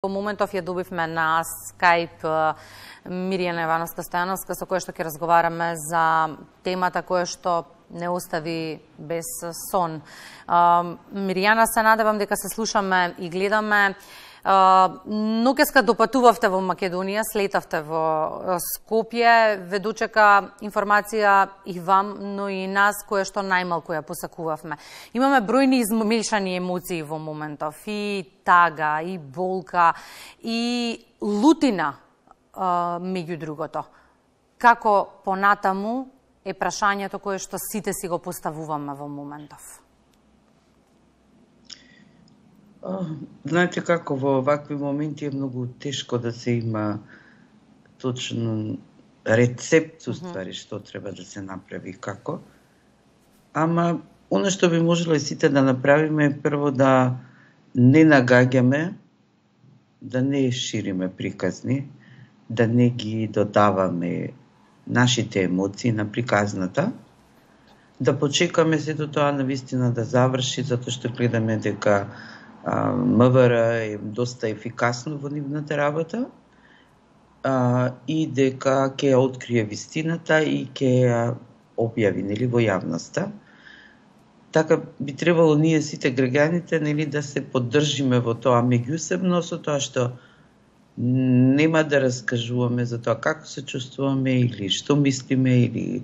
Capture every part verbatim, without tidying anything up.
Во моментов ја добивме на Skype Мирјана Ивановска-Стојановска, со која што ќе разговараме за темата која што не остави без сон. Мирјана, се надевам дека се слушаме и гледаме. Нокеска допатувавте во Македонија, слетавте во Скопје, ве дочека информација и вам, но и нас, која што најмалку ја посакувавме. Имаме бројни измешани емоции во моментов, и тага, и болка, и лутина, меѓу другото. Како понатаму е прашањето кое што сите си го поставуваме во моментов? Знаете како, во овакви моменти е многу тешко да се има точно рецепт, уствари, што треба да се направи како. Ама, оно што би можело и сите да направиме е прво да не нагаѓаме, да не шириме приказни, да не ги додаваме нашите емоции на приказната, да почекаме сето тоа навистина да заврши, затоа што гледаме дека МВР е доста ефикасно во нивната работа а, и дека ќе ја открие вистината и ќе ја објави, нели, во јавноста. Така би требало ние сите граѓаните, нели, да се поддржиме во тоа меѓусебно, со тоа што нема да раскажуваме за тоа како се чувствуваме или што мислиме или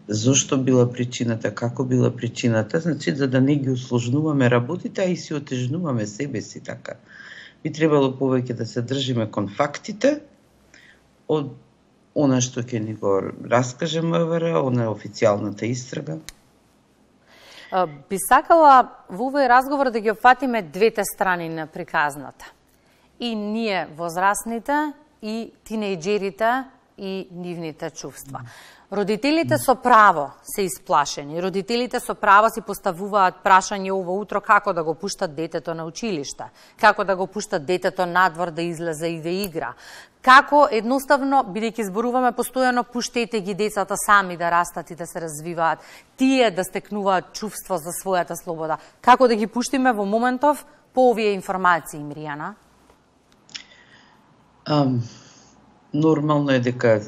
зошто била причината, како била причината, значи за да не ги усложнуваме работите, а и си отежнуваме себе си така. Би требало повеќе да се држиме кон фактите од она што ќе ни го раскаже МВР, она официјалната истрага. Би сакала во овој разговор да ги опфатиме двете страни на приказната. И ние возрастните, и тинејџерите, и нивните чувства. Родителите со право се исплашени. Родителите со право си поставуваат прашање ово утро како да го пуштат детето на училиште, како да го пуштат детето надвор да излезе и да игра. Како едноставно, бидејќи зборуваме постојано, пуштете ги децата сами да растат и да се развиваат, тие да стекнуваат чувство за својата слобода. Како да ги пуштиме во моментов по овие информации, Мирјана? Um, нормално е дека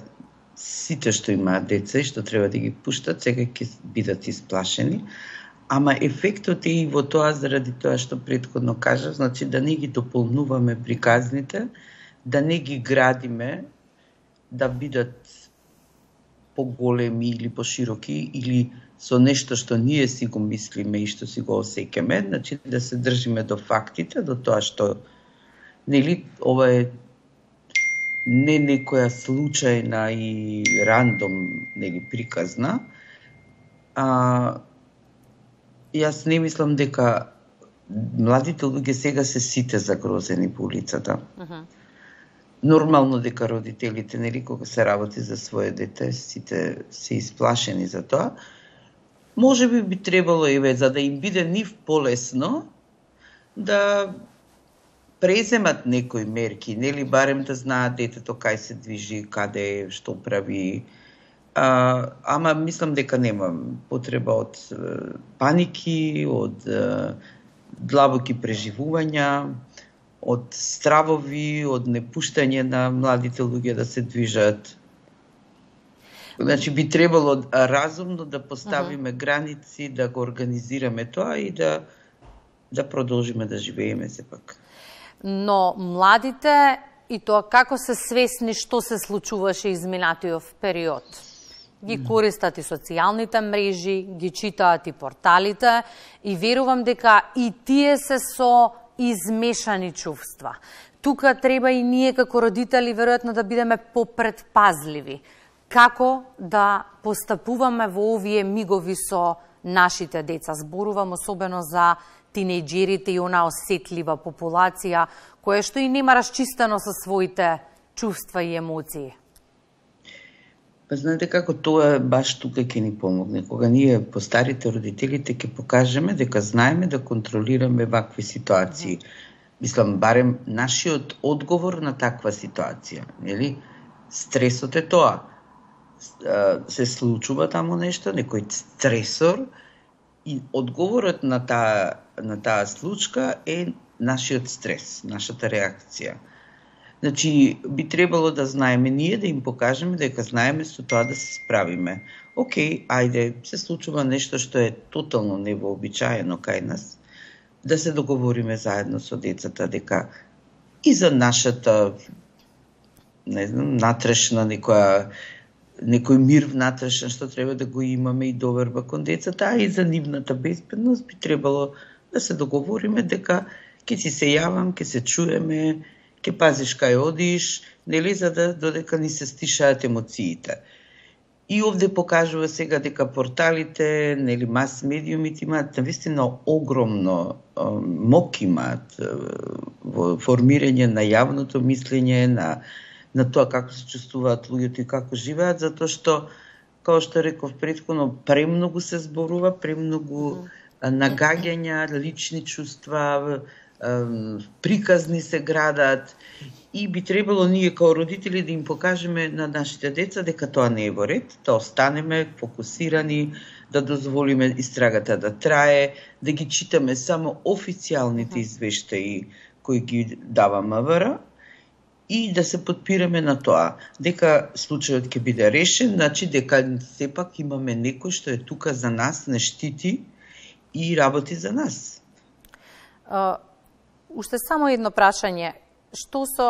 сите што имаат деца и што треба да ги пуштат, сега ќе бидат исплашени, ама ефектот е и во тоа заради тоа што претходно кажав, значи да не ги дополнуваме приказните, да не ги градиме, да бидат поголеми или пошироки, или со нешто што ние си го мислиме и што си го осеќаме, значи да се држиме до фактите, до тоа што, нели, ова е не некоја случајна и рандом, нели, приказна. А, јас не мислам дека младите луѓе сега се сите загрозени по улицата. Uh-huh. Нормално дека родителите, нели, кога се работи за своје дете, сите се исплашени за тоа. Може би би требало, еве, за да им биде нив полесно, да преземат некои мерки, нели, барем да знаат детето кај се движи, каде, што прави. А, ама мислам дека нема потреба од паники, од длабоки преживувања, од стравови, од непуштање на младите луѓе да се движат. Значи би требало разумно да поставиме uh-huh. граници, да го организираме тоа и да да продолжиме да живееме сепак. Но младите и тоа како се свесни што се случуваше изминатиот период. Ги користат и социјалните мрежи, ги читаат и порталите и верувам дека и тие се со измешани чувства. Тука треба и ние како родители веројатно да бидеме попредпазливи. Како да постапуваме во овие мигови со нашите деца. Зборувам особено за тинејџерите и она осетлива популација, која што и нема расчистено со своите чувства и емоции. Па знаете како, тоа баш тука ќе ни помогне. Кога ние, постарите родителите, ќе покажеме дека знаеме да контролираме вакви ситуации. Mm-hmm. Мислам, барем нашиот одговор на таква ситуација. Нели? Стресот е тоа. Се случува таму нешто, некој стресор, и одговорот на таа на таа случка е нашиот стрес, нашата реакција. Значи, би требало да знаеме ние, да им покажеме дека знаеме со тоа да се справиме. Океј, ајде, се случува нешто што е тотално невообичаено кај нас, да се договориме заедно со децата дека и за нашата, не знам, натрешна некоја некој мир внатрешен што треба да го имаме и доверба кон децата, а и за нивната безбедност би требало да се договориме дека ќе си се јавам, ќе се чуеме, ќе пазиш кај одиш, нели, за да додека ни се стишаат емоциите. И овде покажува сега дека порталите, нели, мас медиумите имаат навистина огромно е, мок имаат е, во формирање на јавното мислење, на на тоа како се чувствуваат луѓето и како живеат, затоа што, како што реков претходно, премногу се зборува, премногу нагаѓања, лични чувства, приказни се градат и би требало ние како родители да им покажеме на нашите деца дека тоа не е во ред, да останеме фокусирани, да дозволиме истрагата да трае, да ги читаме само официјалните извештаи кои ги дава МВР и да се подпираме на тоа, дека случајот ќе биде решен, значи дека сепак имаме некој што е тука за нас, не штити и работи за нас. Uh... Уште само едно прашање. Што со,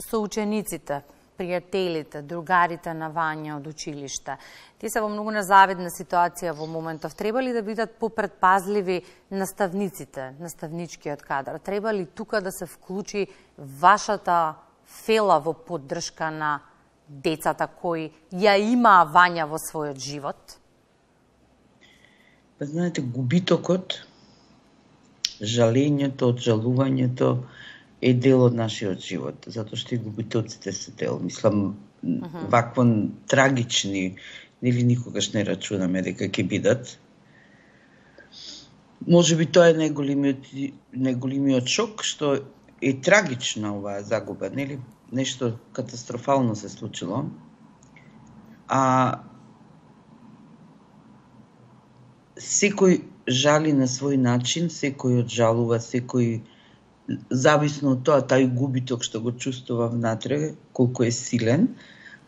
со учениците, пријателите, другарите на Вања од училиште? Тие се во многу незавидна ситуација во моментов. Треба ли да бидат попредпазливи наставниците, наставничкиот кадар? Треба ли тука да се вклучи вашата фела во поддршка на децата кои ја имаа Вања во својот живот? Па знаете, губитокот, жалењето, оджалувањето е дел од нашиот живот, затоа што и губитоците се дел. Мислам, uh-huh. вакво трагични, нели никогаш не рачунаме дека ќе бидат. Може би тоа е најголемиот, најголемиот шок, што е трагична оваа загуба, нели? Нешто катастрофално се случило. А секој жали на свој начин, секој оджалува, секој зависно од тоа, тај губиток што го чувствува внатре, колку е силен,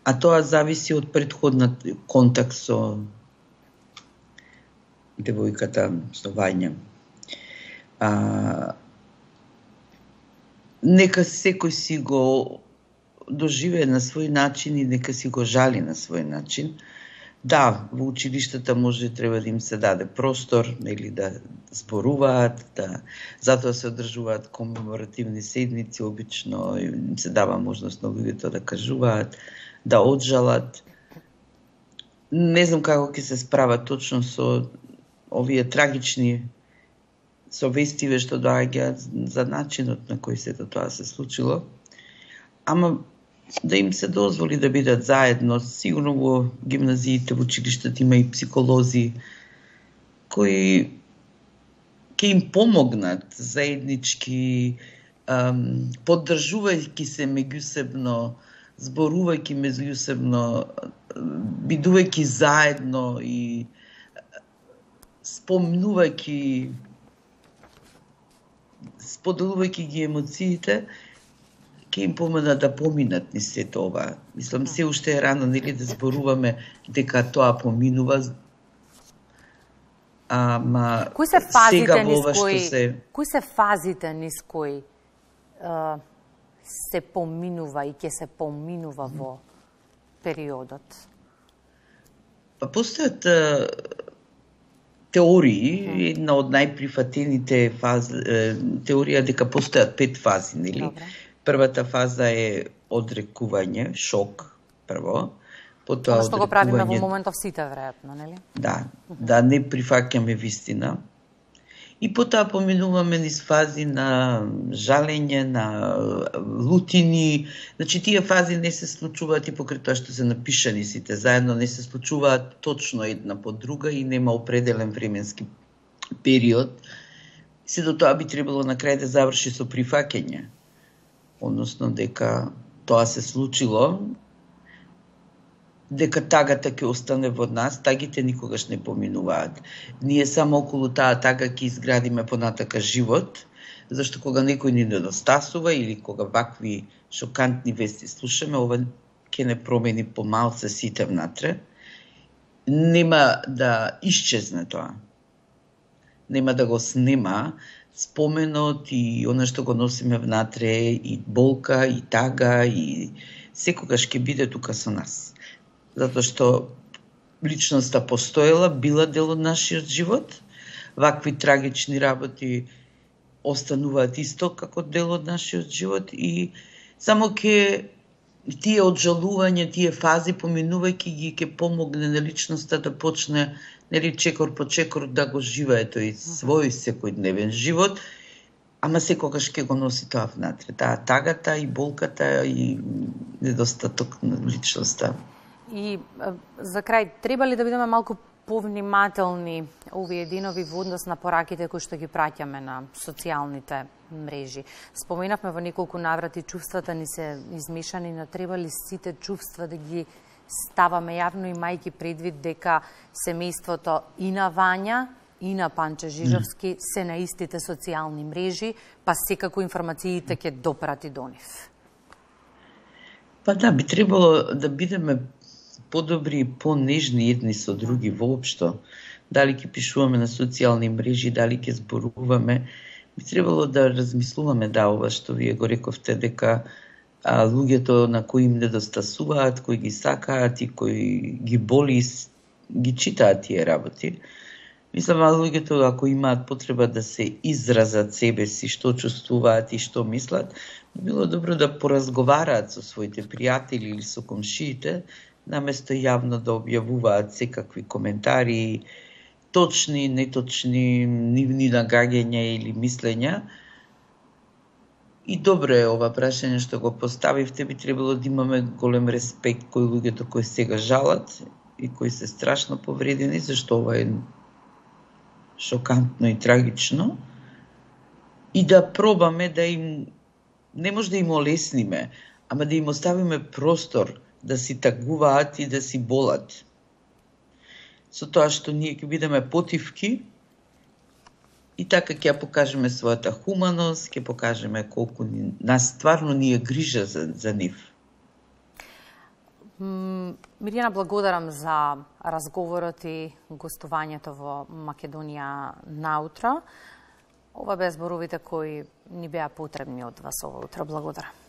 а тоа зависи од претходниот контакт со девојката, со Вања. А, нека секој си го доживее на свој начин и нека си го жали на свој начин. Да, во училиштата може треба да им се даде простор, нели, да зборуваат, да затоа се одржуваат комеморативни седници, обично им се дава можност на луѓето да кажуваат, да оджалат. Не знам како ќе се справат точно со овие трагични совестиве што доаѓаат за начинот на кој сето тоа се случило, ама да им се дозволи да бидат заедно. Сигурно во гимназиите, во училиштата има и психолози кои ќе им помогнат заеднички, ам, поддржувајќи се меѓусебно, зборувајќи меѓусебно, бидувајќи заедно и спомнувајќи, споделувајќи ги емоциите, ќе им помогнат да поминат низ сето ова. Мислам, се уште е рано, нели, да зборуваме дека тоа поминува. Ама кои се фазите низ кои се... кои се фазите низ кои uh, се поминува и ќе се поминува mm. во периодот? Па постојат uh, теории, mm. една од најприфатените фази, теорија дека постојат пет фази, нели? Добре. Првата фаза е одрекување, шок, прво. Потоа одрекување... што го правиме во моментов сите, веројатно, нели? Да, да не прифаќаме вистина. И потоа поминуваме низ фази на жалење, на лутини. Значи, тие фази не се случуваат и покрај тоа што се напишани сите заедно, не се случуваат точно една по друга и нема определен временски период. Сето тоа би требало на крај да заврши со прифаќање. Односно дека тоа се случило, дека тагата ќе остане во нас, тагите никогаш не поминуваат. Ние само околу таа тага ќе изградиме понатака живот, Зашто кога некој ни недостасува или кога вакви шокантни вести слушаме, ова ќе не промени помалце сите внатре. Нема да исчезне тоа. Нема да го снема споменот и оно што го носиме внатре, и болка, и тага, и секогаш ќе биде тука со нас. Затоа што личноста постоела, била дел од нашиот живот. Вакви трагични работи остануваат исто како дел од нашиот живот и само ќе тие оджалување, тие фази поминувајќи ги ќе помогне на личноста да почне нели чекор по чекор да го живее тој свој секојдневен живот, ама секогаш ќе го носи тоа внатре, таа тагата и болката и недостаток на личноста. И за крај, треба ли да бидеме малку повнимателни овие денови во однос на пораките кои што ги праќаме на социјалните мрежи? Споменавме во неколку наврати, чувствата ни се измешани, но треба ли сите чувства да ги ставаме јавно, имајќи предвид дека семејството и на Вања и на Панче Жижовски се на истите социјални мрежи, па секако информациите ќе допрати до нив? Па да, би требало да бидеме подобри и понежни едни со други воопшто. Дали ќе пишуваме на социјални мрежи, дали ќе зборуваме, би требало да размислуваме да ова што вие го рековте, дека а, луѓето на кои им недостасуваат, кои ги сакаат и кои ги боли, ги читаат тие работи. Мислам, а луѓето ако имаат потреба да се изразат себе си, што чувствуваат и што мислат, би било добро да поразговараат со своите пријатели или со комшиите, наместо јавно да објавуваат секакви коментари, точни, неточни, нивни нагаѓања или мислења. И добро е ова прашање што го поставивте, би требало да имаме голем респект кои луѓето кои сега жалат и кои се страшно повредени, зашто ова е шокантно и трагично, и да пробаме да им, не може да им олесниме, ама да им оставиме простор да си тагуваат и да си болат. Со тоа што ние ќе бидеме потивки и така ќе покажеме својата хуманост, ќе покажеме колку ни, нас стварно ни е грижа за, за нив. Мирјана, благодарам за разговорот и гостувањето во Македонија наутро. Ова беа зборовите кои ни беа потребни од вас ова утро. Благодарам.